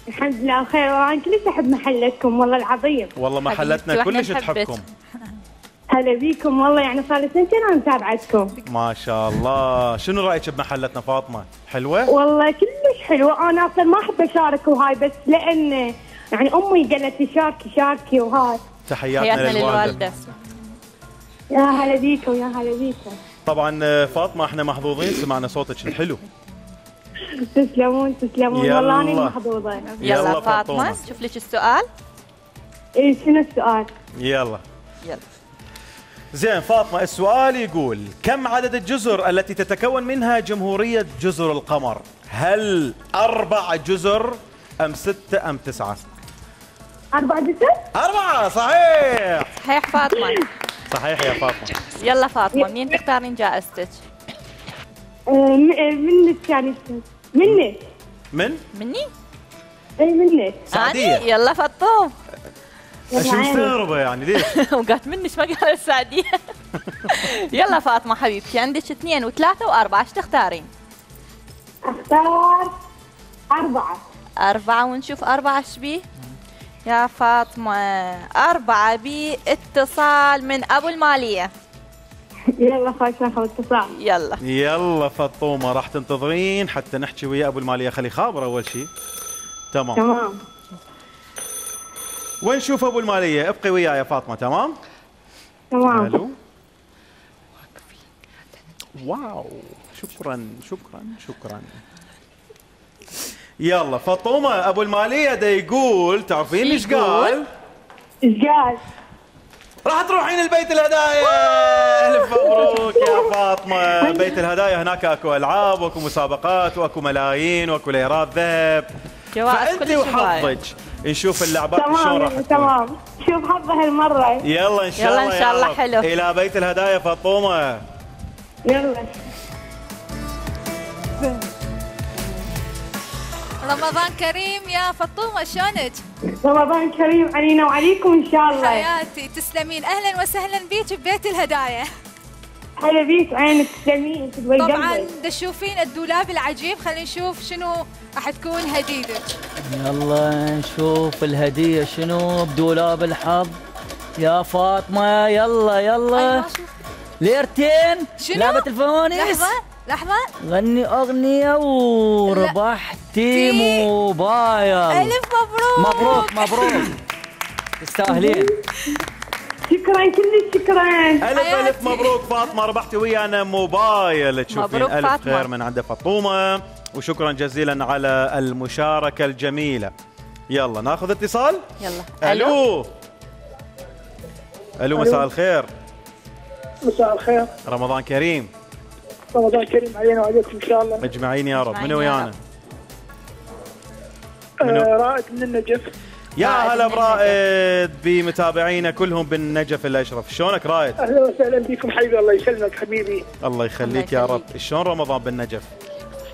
الحمد لله بخير، وانا كلش احب محلتكم والله العظيم. والله محلتنا كلش تحبكم. هلا بيكم والله، يعني صار لي سنتين انا متابعتكم. ما شاء الله. شنو رايك بمحلتنا فاطمه؟ حلوه؟ والله كلش حلوه، انا اصلا ما احب اشارك وهاي، بس لان يعني امي قالت لي شاركي شاركي وهاي. تحياتنا للوالده. يا هلا بيكم يا هلا بيكم. طبعا فاطمه احنا محظوظين سمعنا صوتك الحلو. تسلمون تسلمون والله انا محظوظه. يلا, يلا فاطمه شوف لك السؤال. ايه شنو السؤال؟ يلا يلا زين فاطمه، السؤال يقول كم عدد الجزر التي تتكون منها جمهوريه جزر القمر؟ هل أربع جزر أم ستة أم تسعة؟ أربع جزر؟ أربعة صحيح. صحيح فاطمة. صحيح يا فاطمة. يلا فاطمة منين تختارين جائزتك؟ منك يعني منك. من؟ مني؟ اي منك. سعديه يلا فطوم. ايش مستغربه يعني ليش؟ وقعت منك ما قال السعديه. يلا فاطمه حبيبتي عندك اثنين وثلاثه واربعه، ايش تختارين؟ اختار أربعة. أربعة ونشوف أربعة ايش بيه؟ يا فاطمة أربعة بيه اتصال من أبو المالية. يلا خلاص ناخذ اتصال. يلا يلا فطومه راح تنتظرين حتى نحكي ويا ابو الماليه، خلي خابر اول شيء. تمام تمام. وين نشوف ابو الماليه؟ ابقي وياي يا فاطمه. تمام تمام. الو. واو شكرا شكرا شكرا. يلا فطومه ابو الماليه دا يقول، تعرفين ايش قال؟ ايش قال؟ راح تروحين البيت الهدايا. الف مبروك يا فاطمه. بيت الهدايا هناك اكو العاب واكو مسابقات واكو ملايين واكو ليرات ذهب، فانت وحظك نشوف اللعبات شلون راح تكون. تمام شوف حظها هالمره. يلا ان شاء يلا الله ان شاء الله حلو. الى بيت الهدايا فاطمه. يلا. رمضان كريم يا فطومة، شلونك؟ رمضان كريم علينا وعليكم ان شاء الله. حياتي تسلمين، اهلا وسهلا بيك ببيت الهدايا. هلا بيك عينك تسلمين. طبعا تشوفين الدولاب العجيب، خلينا نشوف شنو راح تكون هديتك. يلا نشوف الهدية شنو بدولاب الحظ يا فاطمة. يلا يلا ليرتين شنو؟ لعبة الفوانيس. لحظة لحظة غني أغنية وربحتي موبايل. ألف مبروك. مبروك مبروك تستاهلين. شكرا كلش شكرا. ألف ألف مبروك فاطمة، ربحتي ويانا موبايل. تشوفين ألف فاطمة. خير من عند فطومة، وشكرا جزيلا على المشاركة الجميلة. يلا ناخذ اتصال. يلا. ألو ألو مساء الخير. مساء الخير. رمضان كريم. رمضان كريم علينا وعليكم ان شاء الله. مجمعين يا رب. من ويانا؟ آه رائد من النجف. يا هلا برائد بمتابعينا كلهم بالنجف الاشرف. شلونك رائد؟ اهلا وسهلا بكم حبيبي. الله يسلمك حبيبي. الله يخليك يا رب. شلون رمضان بالنجف؟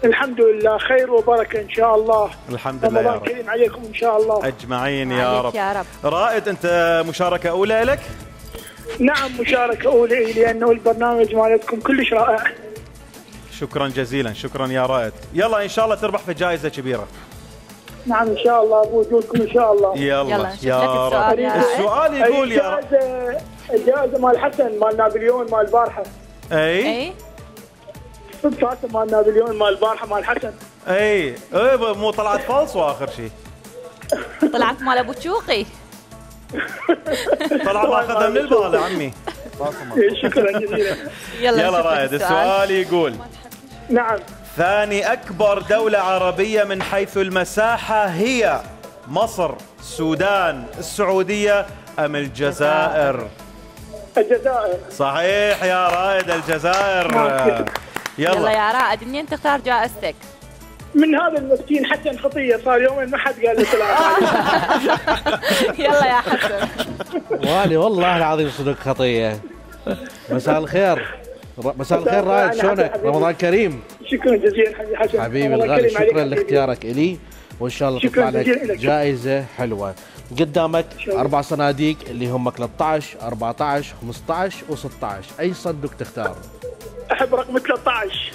الحمد لله خير وبركه ان شاء الله. الحمد لله يا رمضان رب. كريم عليكم ان شاء الله. اجمعين يا رب. يا رب. رائد انت مشاركه اولى لك؟ نعم مشاركه اولى لانه البرنامج مالتكم كلش رائع. شكرا جزيلا. شكرا يا رائد. يلا ان شاء الله تربح في جائزه كبيره. نعم ان شاء الله بوجودكم ان شاء الله. يلا, يلا يا رب. السؤال, السؤال يقول يا رب. الجائزه الجائزه مال حسن مال نابليون مال البارحه. اي اي صدفه مال نابليون مال البارحه مال حسن. اي اي مو طلعت فالصو اخر شيء. طلعت مال ابو تشوقي. طلع ماخذها من البال عمي. شكرا جزيلا. يلا, يلا رائد. السؤال يقول نعم ثاني أكبر دولة عربية من حيث المساحة هي مصر، السودان، السعودية أم الجزائر؟ الجزائر. صحيح يا رائد الجزائر. يلا يلا يا رائد منين تختار جائزتك؟ من هذا المسكين حسن خطيه صار يومين ما حد قال له سلام. يلا يا حسن. والي والله العظيم صدق خطيه. مساء الخير. مساء الخير رائد، شلونك؟ رمضان كريم. شكرا جزيلا حبيبي حسن. حبيبي الغالي، شكرا لاختيارك الي، وان شاء الله تطلع لك جائزه حلوه. قدامك اربع صناديق اللي هم ثلاثة عشر أربعة عشر خمسة عشر وستة عشر، اي صندوق تختار؟ احب رقم ثلاثة عشر.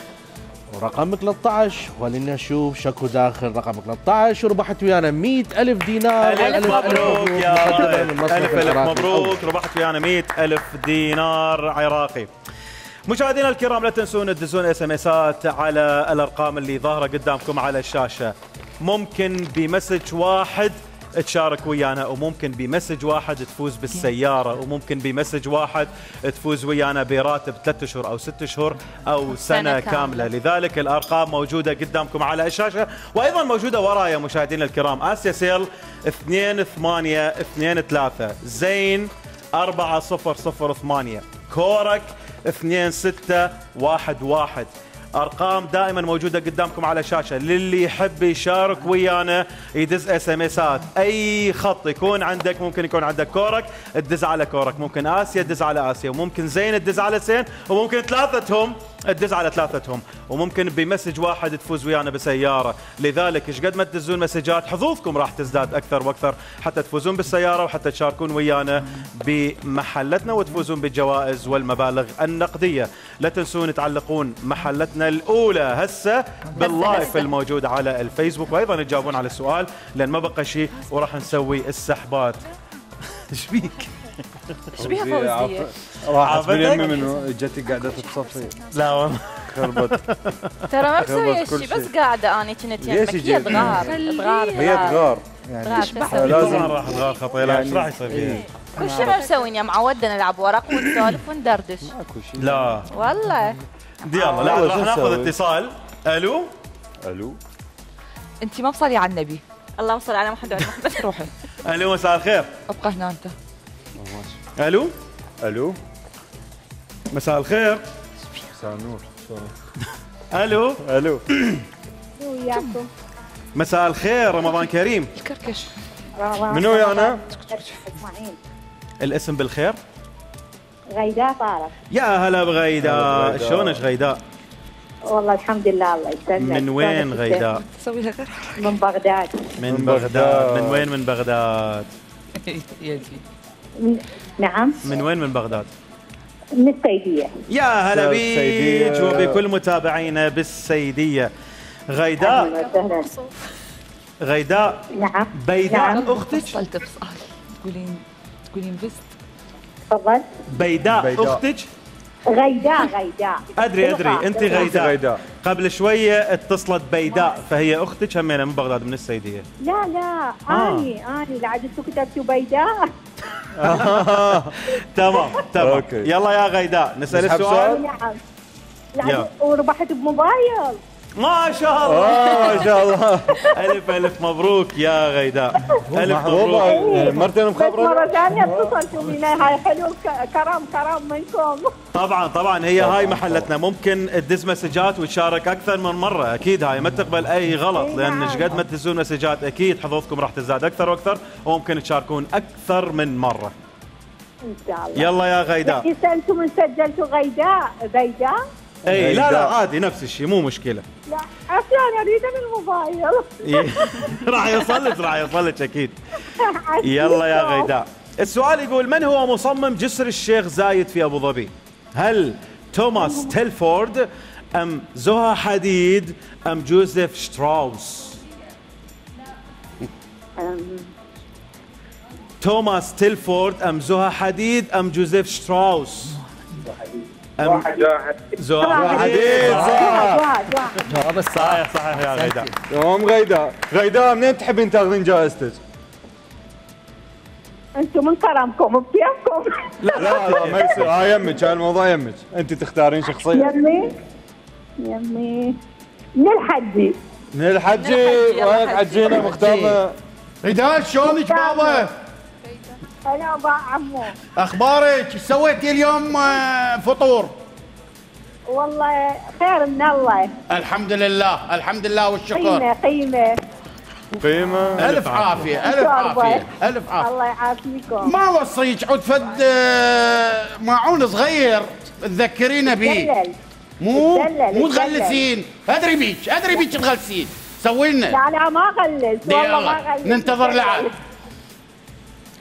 ورقم ثلاثة عشر خلينا نشوف شكو داخل رقم ثلاثة عشر. وربحت ويانا مئة ألف دينار. ألف مبروك يا رائد. ألف ألف مبروك، ربحت ويانا مئة ألف دينار عراقي. مشاهدينا الكرام لا تنسون تدزون اس ام اسات على الارقام اللي ظاهره قدامكم على الشاشه. ممكن بمسج واحد تشارك ويانا، وممكن بمسج واحد تفوز بالسياره، وممكن بمسج واحد تفوز ويانا براتب ثلاثة اشهر او ستة اشهر او سنه كامله. لذلك الارقام موجوده قدامكم على الشاشه، وايضا موجوده ورايا مشاهدينا الكرام. اسيا سيل اثنين ثمانية اثنين ثلاثة، زين أربعة صفر صفر ثمانية، كورك اثنين ستة واحد واحد، ارقام دائما موجوده قدامكم على الشاشه، للي يحب يشارك ويانا يدز اس ام اسات، اي خط يكون عندك، ممكن يكون عندك كورك تدز على كورك، ممكن اسيا تدز على اسيا، وممكن زين تدز على زين، وممكن ثلاثتهم تدز على ثلاثتهم، وممكن بمسج واحد تفوز ويانا بسياره، لذلك ايش قد ما تدزون مسجات حظوظكم راح تزداد اكثر واكثر حتى تفوزون بالسياره وحتى تشاركون ويانا بمحلتنا وتفوزون بالجوائز والمبالغ النقديه. لا تنسون تعلقون محلتنا الاولى هسه باللايف الموجود على الفيسبوك، وايضا تجاوبون على السؤال لان ما بقى شيء وراح نسوي السحبات. ايش بيك؟ ايش بيها فوزيه؟ راحت من يمي منه جتي قاعده تتصفي. لا والله خربت. ترى ما مسويه شيء بس قاعده اني كنت يمك. هي تغار تغار هي تغار يعني لازم راح تغار خطيره. ايش راح يصير فيها؟ كل شيء ما مسوين يا معودنا نلعب ورق ونسولف وندردش. لا والله يلا لا راح ناخذ اتصال. الو الو انت ما مصلي على النبي. اللهم صل على محمد وعلى محمد. روحي. الو مساء الخير. ابقى هنا انت. الو الو مساء الخير. مساء النور. الو الو وياكم مساء الخير، رمضان كريم. الكركش منو ويانا؟ اسماعيل. الاسم بالخير؟ غيداء طارق. يا هلا بغيداء، شلونك غيداء؟ والله الحمد لله الله يسلمك. من وين غيداء؟ تسوي لها غير من بغداد. من بغداد. من وين من بغداد؟ من... نعم. من وين من بغداد؟ من السيدية. يا هلا بيك وبكل متابعينا بالسيدية. غيداء غيداء نعم. بيداء نعم. اختك؟ وصلت بسؤال تقولين تقولين بست. تفضل. بيداء, بيداء. اختك؟ غيداء غيداء ادري ادري انت غيداء. غيداء قبل شويه اتصلت بيداء فهي اختك همينه من بغداد من السيديه. لا لا آه. اني اني لا عاد انتم كتبتوا بيداء. تمام تمام يلا يا غيداء نسال السؤال. نعم لا وربحت بموبايل. ما شاء الله ما شاء الله. الف الف مبروك يا غيداء. الف مبروك. مرتين مخبره مره ثانيه اتصلتوا بي. هاي حلو كرم كرم منكم. طبعا طبعا هي هاي محلتنا، ممكن تدز مسجات وتشارك اكثر من مره، اكيد هاي ما تقبل اي غلط لان ايش قد ما تدزون مسجات اكيد حظوظكم راح تزداد اكثر واكثر وممكن تشاركون اكثر من مره. ان شاء الله. يلا يا غيداء. اذا انتم سجلتوا غيداء بيداء؟ اي لا لا عادي نفس الشيء مو مشكله. لا عشان اريد من الموبايل. راح يوصل لك راح يوصل لك اكيد. يلا يا غيداء. السؤال يقول من هو مصمم جسر الشيخ زايد في ابو ظبي؟ هل توماس تيلفورد ام زها حديد ام جوزيف شتراوس؟ توماس تيلفورد ام زها حديد ام جوزيف شتراوس؟ أم زها حديد. صح جواب صحيح صحيح يا غيداء. تمام غيداء. غيداء منين تحبين تاخذين جائزتك؟ انتم من كرمكم بكيفكم. لا لا لا ما يصير. ها يمك الموضوع يمك، انت تختارين شخصيا. يمي يمي من الحجي. من الحجي وين حجينا مختارنا. غيداء شلونك بابا؟ انا ابا عمو. اخبارك؟ ايش سويتي اليوم فطور؟ والله خير من الله. الحمد لله الحمد لله والشكر. قيمه قيمه قيمه. الف عافيه الف عافيه الف عافيه. الله يعافيكم. ما وصيك عود فد ماعون صغير تذكرينا به. مو مو تغلسين. ادري بيك ادري بيك تغلسين. سوي لنا. لا لا ما غلس والله ما غلس. ننتظر لعب.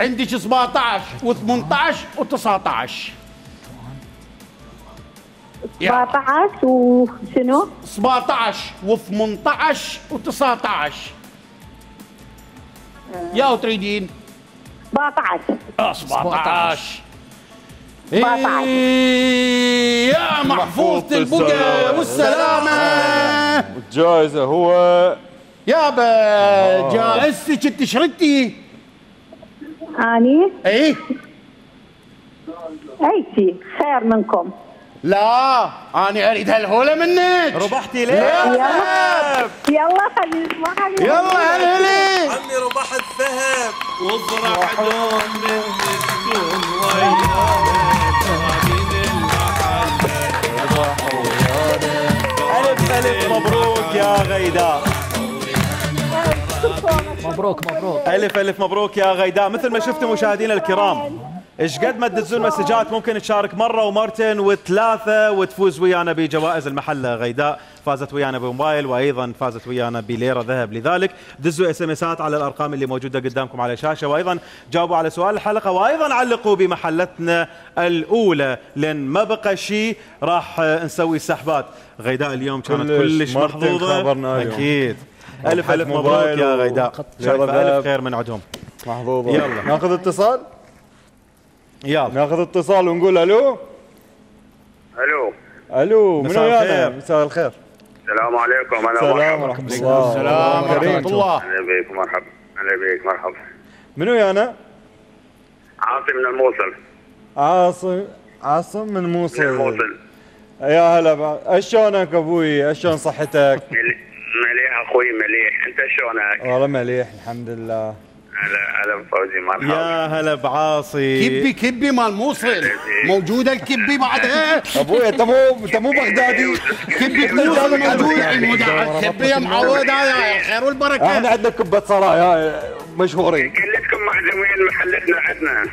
عندك سبعطعش وثمنطعش وتسعطعش. سبعطعش وشنو؟ سبعطعش وثمنطعش وتسعطعش. يا وتريدين؟ سبعطعش. اه سبعطعش. إيه يا محفوظة البقى والسلامة. الجائزة هو يابا جائزتك انت شردتي. اني؟ ايه اي شيء خير منكم. لا انا اريد هالهوله منك. ربحتي ليه؟ يلا يلا خلينا نسمعها. يلا هلا هلا. عمي ربحت ذهب وافرح دون من تكون ويانا. غيداء. مبروك مبروك. الف الف مبروك يا غيداء. مثل ما شفتوا مشاهدينا الكرام، ايش قد ما تدزون مسجات ممكن تشارك مره ومرتين وثلاثه وتفوز ويانا بجوائز المحله. غيداء فازت ويانا بموبايل وايضا فازت ويانا بليره ذهب، لذلك دزوا اس ام اسات على الارقام اللي موجوده قدامكم على الشاشه، وايضا جاوبوا على سؤال الحلقه، وايضا علقوا بمحلتنا الاولى، لان ما بقى شيء راح نسوي سحبات. غيداء اليوم كانت كلش محظوظه اكيد. الف الف مبروك يا غيداء، شايفه الف خير من عندهم. محظوظه. يلا ناخذ اتصال. يلا ناخذ اتصال ونقول الو. الو الو منو مساء ويانا؟ الخير. مساء الخير. السلام عليكم. انا السلام ورحمه الله. السلام ورحمه الله. اهلا بك مرحبا. اهلا بك مرحبا. منو ويانا؟ عاصم من الموصل. عاصم عاصم من موصل. من الموصل. يا هلا، شلونك ابوي؟ شلون صحتك؟ مليح اخوي مليح، انت شلونك؟ والله مليح الحمد لله. هلا هلا بفوزي مرحبا. يا هلا بعاصي. كبي كبي مال موصل موجوده الكبي بعدها. ابوي انت مو انت مو بغدادي. كبي موصل موجوده. الكبي يا معود يا الخير والبركه. احنا عندنا كبه صرايا مشهورين. كلكم معزومين محلتنا عندنا.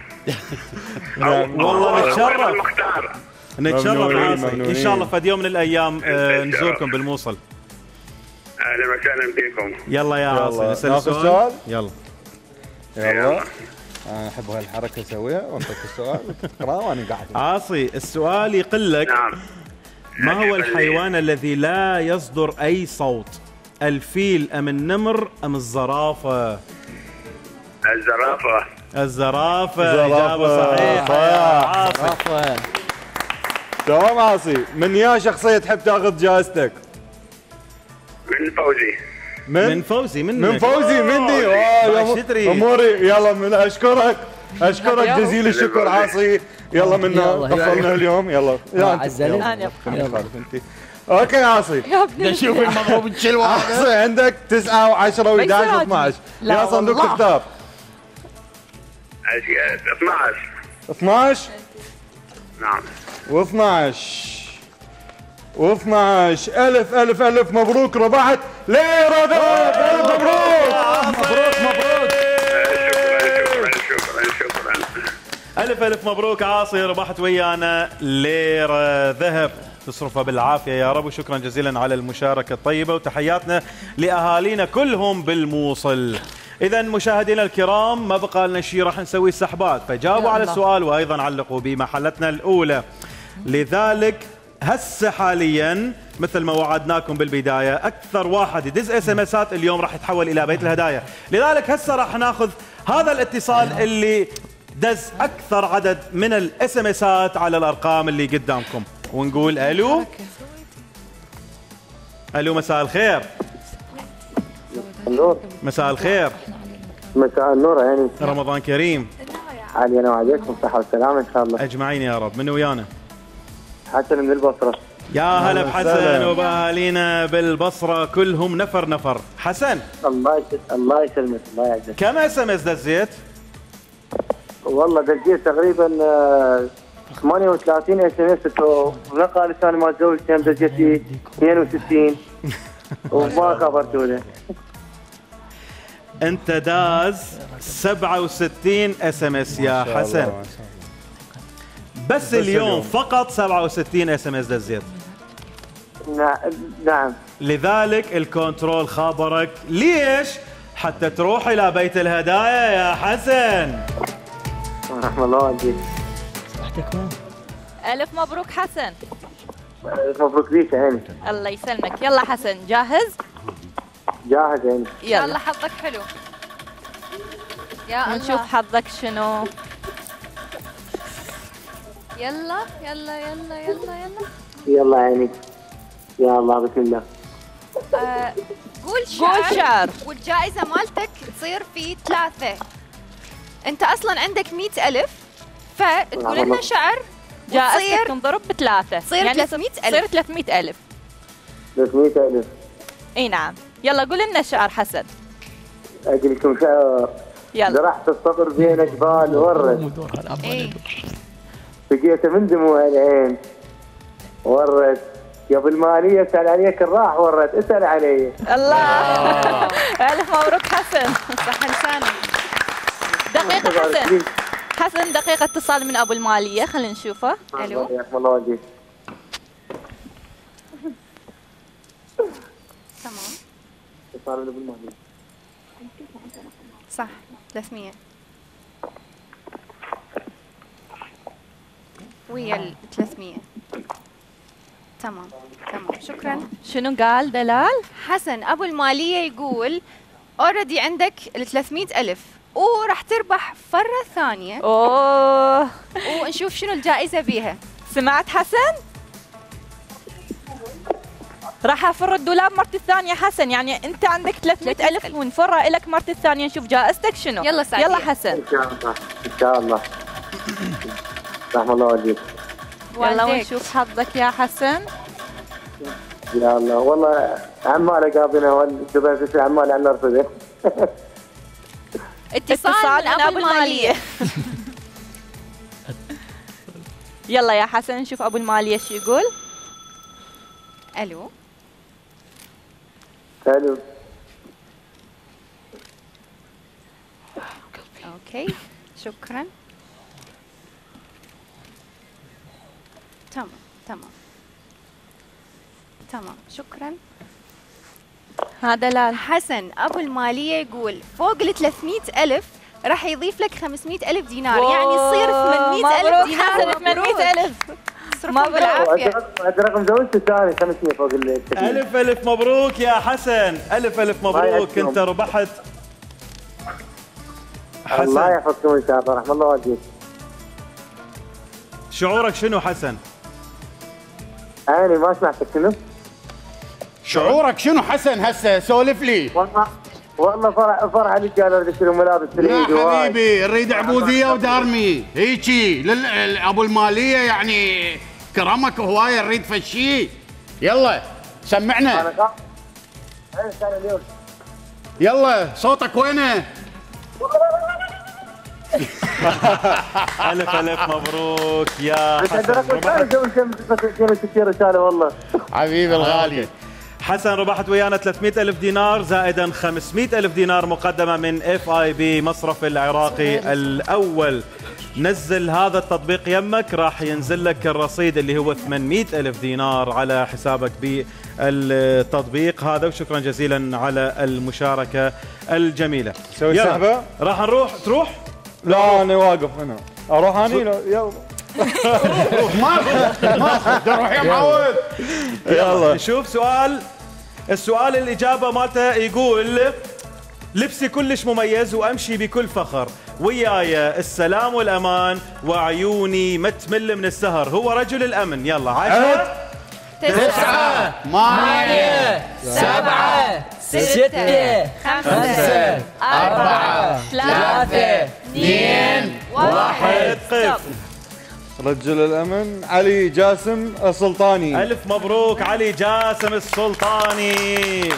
والله نتشرف. المختار. نتشرف عاصي، ان شاء الله فد يوم من الايام آه نزوركم بالموصل. اهلا وسهلا بكم. يلا يا عاصي نسال ناخذ سؤال. سؤال. يلا يلا انا احب هالحركه اسويها وانطيك السؤال تقرا وانا قاعد. عاصي السؤال يقول لك نعم. ما هو الحيوان الذي لا يصدر اي صوت؟ الفيل ام النمر ام الزرافه؟ الزرافه. الزرافه. اجابه صحيحه يا عاصي. تمام عاصي. من يا شخصيه تحب تاخذ جائزتك؟ من فوزي. من, من فوزي منك. من فوزي مني. اه يا اموري. يلا من اشكرك اشكرك جزيل الشكر عاصي. يلا منا طفلنا اليوم. يلا يا عزلي. يلا اوكي عاصي. نشوف المضروب تشيل واحد. عاصي عندك تسعة وعشرة وإحدى عشر واثني عشر. يا صندوق تختار. اثني عشر. اثني عشر. نعم. واثني عشر واثني عشر. الف الف الف مبروك، ربحت ليرة ذهب. الف مبروك مبروك مبروك. شكرا شكرا شكرا. الف الف مبروك عاصي، ربحت ويانا ليرة ذهب تصرفها بالعافيه يا رب، وشكرا جزيلا على المشاركه الطيبه، وتحياتنا لاهالينا كلهم بالموصل. اذا مشاهدينا الكرام ما بقى لنا شيء، راح نسوي سحبات، فجاوبوا على السؤال وايضا علقوا بمحلتنا الاولى. لذلك هسه حاليا مثل ما وعدناكم بالبدايه، اكثر واحد يدز اس ام اسات اليوم راح يتحول الى بيت الهدايا. لذلك هسه راح ناخذ هذا الاتصال اللي دز اكثر عدد من الاس ام اسات على الارقام اللي قدامكم، ونقول الو. الو مساء الخير. النور. مساء الخير. مساء النور يعني. رمضان كريم. علينا وعليكم صحة وسلامة ان شاء الله. اجمعين يا رب. من ويانا؟ حسن من البصرة. يا هلا بحسن وباهالينا بالبصرة كلهم نفر نفر. حسن الله يسلمك الله يسلمك الله يعزك. كم اس ام اس دزيت؟ والله دزيت تقريبا ثمانية وثلاثين اس ام اس، ونقى لساني مال زوجتي دزيت اثنين وستين وما خبرتوا له. انت داز سبعة وستين اس ام اس يا حسن. بس اليوم فقط سبعة وستين اس ام اس دزيت. نعم. لذلك الكنترول خابرك. ليش؟ حتى تروح الى بيت الهدايا يا حسن. رحم الله والديك. ألف مبروك حسن. ألف مبروك ليك عيني. الله يسلمك. يلا حسن جاهز؟ جاهز عيني. يلا حظك حلو. يا نشوف حظك شنو. يلا يلا يلا يلا يلا يلا عيني. يا الله بسم الله. آه قول شعر. قول شعر. والجائزة مالتك تصير في ثلاثة. أنت أصلاً عندك مئة ألف، فتقول لنا شعر جائزتك تنضرب بثلاثة، تصير يعني ثلاثمئة ألف. تصير ثلاثمئة ألف. ثلاثمئة ألف. اي نعم. يلا قول لنا شعر حسن. أقول لكم شعر. يلا. زرعت الصبر بين جبال ورد. إيه. بقيت من دموع العين ورد. يا بالماليه اسال عليك الراح ورت اسال علي. الله الف مبروك حسن. صح لسانك. دقيقه حسن حسن دقيقه اتصال من ابو الماليه خلينا نشوفه. الو حياكم الله وجهك. تمام اتصال من ابو الماليه صح ثلاثمية ويا ال ثلاثمية. تمام تمام شكرا. شنو قال دلال؟ حسن ابو الماليه يقول اوريدي عندك ال ثلاثمية ألف وراح تربح فرة ثانية. اوه ونشوف شنو الجائزة بيها. سمعت حسن؟ راح افر الدولاب مرتي الثانية حسن، يعني انت عندك ثلاثمية ألف ونفرها لك مرتي الثانية نشوف جائزتك شنو. يلا سعيد. يلا حسن. ان شاء الله ان شاء الله. رحم الله والديك. يلا ونشوف حظك يا حسن. يا الله والله عماله قابلنا والدبي في عماله عنا رصده. اتصال من ابو الماليه. يلا يا حسن نشوف ابو الماليه شو يقول. الو الو اوكي شكرا. تمام تمام تمام شكرا. هذا دلال. حسن ابو الماليه يقول فوق ال ثلاثمية ألف راح يضيف لك خمسمية ألف دينار، يعني يصير ثمانمية ألف دينار. حسن ثمانمية ألف صرفهم بالعافيه. عاد رقم زوجتي الثاني خمسمية فوق ال الف الف مبروك يا حسن. الف الف مبروك انت ربحت. حسن الله يحفظكم ان شاء الله. رحم الله والديك. شعورك شنو حسن؟ انا ما سمعتك شنو؟ شعورك شنو حسن هسه سولف لي. والله والله فرح فرح عليك قالوا بدي اشتري ملابس تريد. لا حبيبي نريد عبوديه ودارمي هيجي ابو الماليه يعني كرمك هوايه نريد فشي. يلا سمعنا. انا كان اليوم. يلا صوتك وينه؟ الف الف مبروك يا حسن. رساله والله حبيبي الغالي. حسن ربحت ويانا ثلاثمية ألف دينار زائدا خمسمية ألف دينار مقدمة من اف اي بي مصرف العراقي الأول. نزل هذا التطبيق يمك راح ينزل لك الرصيد اللي هو ثمانمية ألف دينار على حسابك بالتطبيق هذا. وشكرا جزيلا على المشاركة الجميلة. سوي سحبة. راح نروح تروح؟ لا أنا واقف هنا. أروح أنا يلا. ما ما روح يا معود. يلا نشوف سؤال. السؤال الإجابة مالته يقول لبسي كلش مميز وأمشي بكل فخر وياي السلام والأمان وعيوني ما تمل من السهر هو رجل الأمن. يلا عشرة تسعة ثمانية سبعة ستة خمسة أربعة ثلاثة اثنين واحد. قف. رجل الأمن علي جاسم السلطاني. ألف مبروك علي جاسم السلطاني.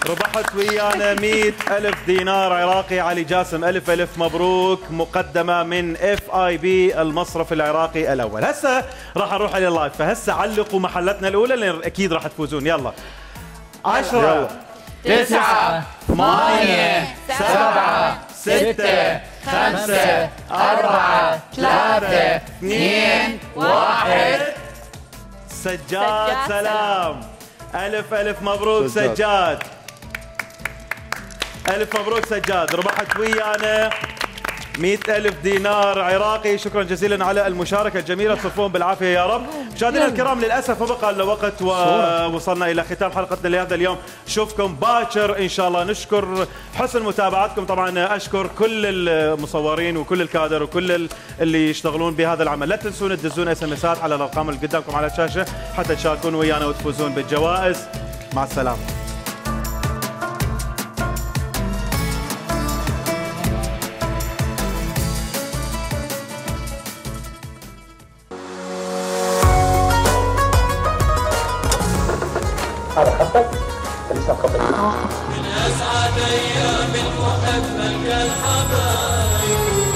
ربحت ويانا مئة ألف دينار عراقي. علي جاسم ألف ألف مبروك مقدمة من اف اي بي المصرف العراقي الأول. هسه راح نروح على اللايف فهسه علقوا محلتنا الأولى لأن أكيد راح تفوزون. يلا عشرة تسعة ثمانية سبعة ستة خمسة أربعة ثلاثة اثنين واحد. سجاد سلام. ألف ألف مبروك سجاد. سجاد ألف مبروك سجاد. ربحت ويانا مئة ألف دينار عراقي. شكرا جزيلا على المشاركة الجميلة. تصرفون بالعافية يا رب. مشاهدينا الكرام للأسف ما بقى لنا وقت ووصلنا إلى ختام حلقتنا لهذا اليوم. نشوفكم باكر إن شاء الله. نشكر حسن متابعتكم. طبعا أشكر كل المصورين وكل الكادر وكل اللي يشتغلون بهذا العمل. لا تنسون تدزون اس ام اسات على الأرقام اللي قدامكم على الشاشة حتى تشاركون ويانا وتفوزون بالجوائز. مع السلامة. هذا خطك لسه خطك. من أسعد أيام المحبة الحبايب